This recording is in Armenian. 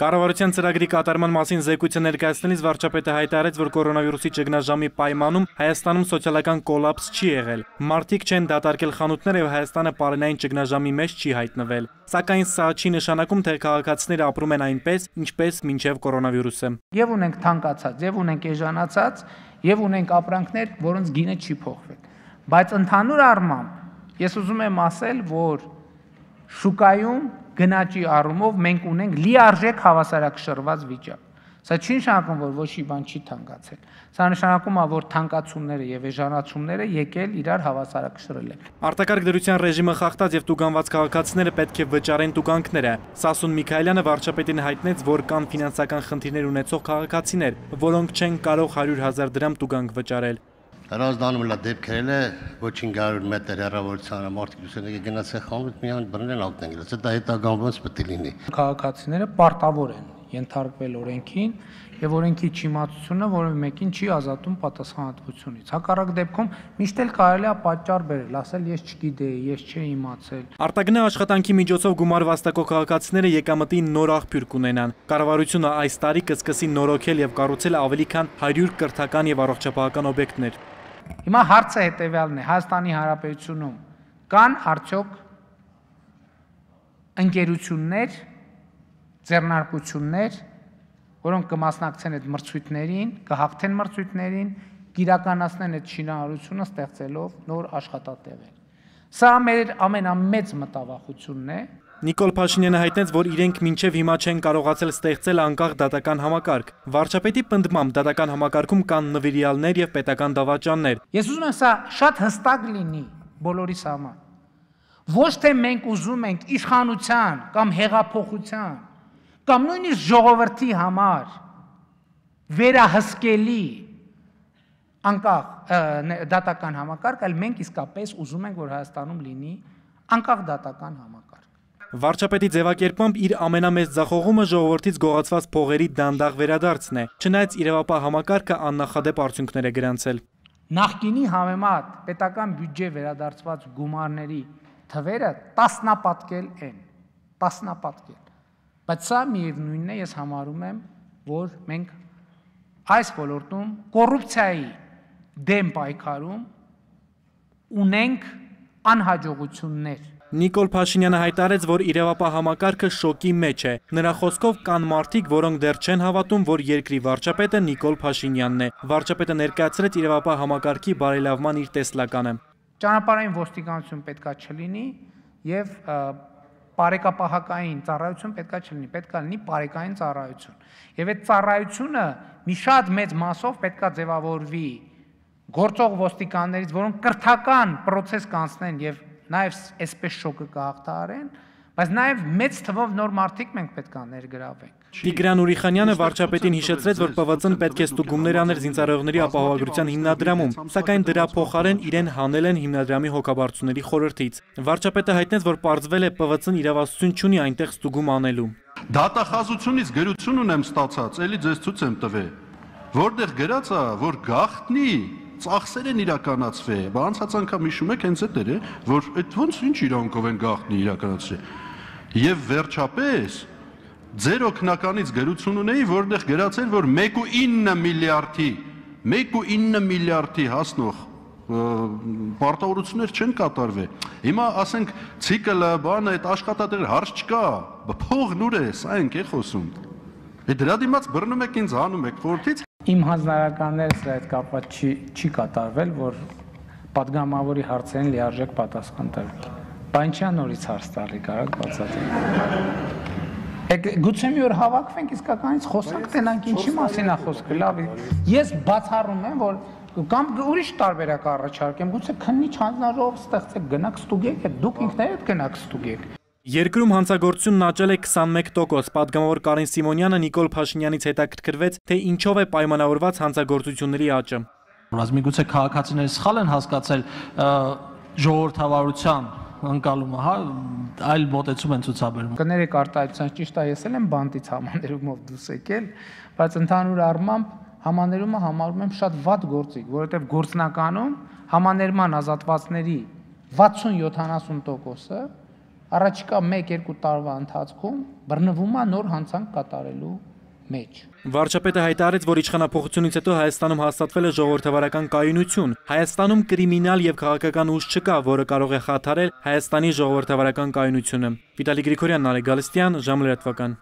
Կառավարության ծրագրի կատարման մասին զեկույցը ներկայացնելիս վարչապետը հայտարարեց, որ կորոնավիրուսի ճգնաժամի պայմանում Հայաստանում սոցիալական կոլապս չի եղել։ Մարդիկ չեն դատարկել խանութները եւ Հայաստանը պարենային ճգնաժամի մեջ չի հայտնվել։ Սակայն սա չի նշանակում, թե քաղաքացիները ապրում են այնպես, ինչպես մինչև կորոնավիրուսը։ Եվ ունենք թանկացած, եւ ունենք էժանացած, եւ ունենք ապրանքներ, որոնց գինը չի փոխվել։ Բայց ընդհանուր առմամբ ես ուզում եմ ասել, որ շուկայում գնաճի առումով մենք ունենք լիարժեք հավասարակշռված վիճակ։ Սա չի նշանակում, որ ոչի բան չի թանկացել։ Սա նշանակում է, որ թանկացումները եւ էժանացումները եկել իրար հավասարակշռել են։ Արտակարգ դրության ռեժիմը խախտած եւ տուգանված քաղաքացիները պետք է վճարեն տուգանքները։ Սասուն Միքայելյանը վարչապետին հայտնեց, որ կան ֆինանսական խնդիրներ ունեցող քաղաքացիներ, որոնք չեն կարող 100,000 դրամ տուգանք վճարել։ Հրազդանում լա դեպքերել է ոչ 500 մետր հեռավորության մարդիկ ուսանող գնացել խանութ միայն բռնել ակտեն գլած դա հետագանված պետք է լինի քաղաքացիները պարտավոր են ենթարկվել օրենքին եւ օրենքի չիմացությունը որևէ մեկին չի ազատում պատասխանատվությունից հակառակ դեպքում միշտ էլ կարելի է պատճառ բերել ասել ես չգիտեի ես չէի իմացել Արտագնա աշխատանքի միջոցով գումար վաստակող քաղաքացիները եկամտի նոր աղբյուր կունենան կառավարությունը այս տարի կսկսի նորոգել եւ կառուցել ավելի քան 100 կրթական եւ առողջապահական օբյեկտներ Հիմա հարցը հետևյալն է Հայաստանի Հանրապետությունում կան արդյոք ընկերություններ ձեռնարկություններ որոնք կմասնակցեն այդ մրցույթներին կհաղթեն մրցույթներին կիրականացնեն այդ շինարարությունը ստեղծելով նոր աշխատատեղեր Սա մեր ամենամեծ մտավախությունն է Նիկոլ Փաշինյանը հայտնեց, որ իրենք մինչև հիմա չեն կարողացել ստեղծել անկախ դատական համակարգ։ Վարչապետի պնդմամբ դատական համակարգում կան նվիրյալներ եւ պետական դավաճաններ։ Ես ուզում եմ սա շատ հստակ լինի բոլորիս համար։ Ոչ թե մենք ուզում ենք իշխանության կամ հեղափոխության կամ նույնիսկ ժողովրդի համար վերահսկելի անկախ դատական համակարգ, այլ մենք իսկապես ուզում ենք, որ Հայաստանում լինի անկախ դատական համակարգ։ Վարչապետի ձևակերպմամբ իր ամենամեծ ձախողումը ժողովրդից գողացված փողերի դանդաղ վերադարձն է, չնայած իրավապահ համակարգը աննախադեպ արդյունքներ է գրանցել։ Նախկինի համեմատ պետական բյուջե վերադարձված գումարների թվերը տասնապատկել են, տասնապատկել։ Բայց սա միևնույնն է, ես համարում եմ, որ մենք այս ոլորտում կոռուպցիայի դեմ պայքարում ունենք անհաջողություններ։ Նիկոլ Փաշինյանը հայտարարեց, որ իրավապահ համակարգը շոկի մեջ է։ Նրա խոսքով կան մարդիկ, որոնք դեռ չեն հավատում, որ երկրի վարչապետը Նիկոլ Փաշինյանն է։ Վարչապետը ներկայացրեց իրավապահ համակարգի բարելավման իր տեսլականը։ Ճանապարհային ոստիկանություն պետքա չլինի եւ բարեկապահական ծառայություն պետքա չլինի, պետքա լինի բարեկային ծառայություն։ Եվ այդ ծառայությունը մի շատ մեծ մասով պետքա ձևավորվի գործող ոստիկաններից, որոնք կրթական process կանցնեն եւ նաև այսպես շոկը կհաղթահարեն, բայց նաև մեծ թվով նոր մարդիկ մենք պետք է ներգրավենք։ Տիգրան Ուրիխանյանը վարչապետին հիշեցրեց, որ ՊՎԾ-ն պետք է ստուգումներ աներ զինծառայողների ապահովագրության հիմնադրամում, սակայն դրա փոխարեն իրեն հանել են հիմնադրամի հոգաբարձուների խորհրդից։ Վարչապետը հայտնեց, որ պարզվել է ՊՎԾ-ն իրավասություն չունի այնտեղ ստուգում անելու։ Դատախազությունից գրություն ունեմ ստացած, էլի ձեզ ցույց եմ տվել, որտեղ գրած է, որ գաղտնի ծախսեր են իրականացվել, բա անցած անգամ հիշում եք հենց այդ էր, որ այդ ոնց ինչ իրանքով են գաղտնի իրականացրել։ Եվ վերջապես ձեր օգնականից գրություն ունեի, որտեղ գրած էր, որ 1.9 միլիարդի հասնող պարտավորություններ չեն կատարվել։ Հիմա ասենք ցիկլը, բանը, այդ աշխատատեղեր հարց չկա, փողն ուր է, սա ենք է խոսում։ Դրա դիմաց բռնում եք ինձ հանում եք խորհրդից Իմ հանձնարարականները սրա հետ կապված չի կատարվել, որ պատգամավորի հարցերին լիարժեք պատասխան տվել։ Բանչյա նորից հարց տալի կարակ բացատրել։ Գուցե մի օր հավաքվենք իսկականից խոսանք տենանք ինչի մասին է խոսքը, լավ։ Ես բացառում եմ, որ կամ ուրիշ տարբերակ առաջարկեմ, գուցե քննիչ հանձնաժողով ստեղծեք, գնաք ստուգեք, դուք ինքներդ գնաք ստուգեք։ Երկրում հանցագործությունն աճել է 21%, պատգամավոր Կարեն Սիմոնյանը Նիկոլ Փաշինյանից հետաքրքրվեց, թե ինչով է պայմանավորված հանցագործությունների աճը։ Միգուցե քաղաքացիները սխալ են հասկացել ժողովրդավարության ընկալումը, հա, այլ մոտեցում են ցուցաբերում։ Կներեք արտահայտության ճիշտ է, ես եմ բանտից համաներումով դուրս եկել, բայց ընդհանուր առմամբ համաներումը համարում եմ շատ վատ գործիք, որովհետև գործնականում համաներման ազատվածների 60-70%-ը առաջիկա 1-2 տարվա ընթացքում բռնվում է նոր հանցանք կատարելու մեջ։ Վարչապետը հայտարարեց, որ իշխանափոխությունից հետո Հայաստանում հաստատվել է ժողովրդավարական կայունություն։ Հայաստանում կրիմինալ եւ քաղաքական ուժ չկա, որը կարող է խաթարել Հայաստանի ժողովրդավարական կայունությունը։ Վիտալի Գրիգորյան, Նարեկ Գալստյան, ժամը լրատվական։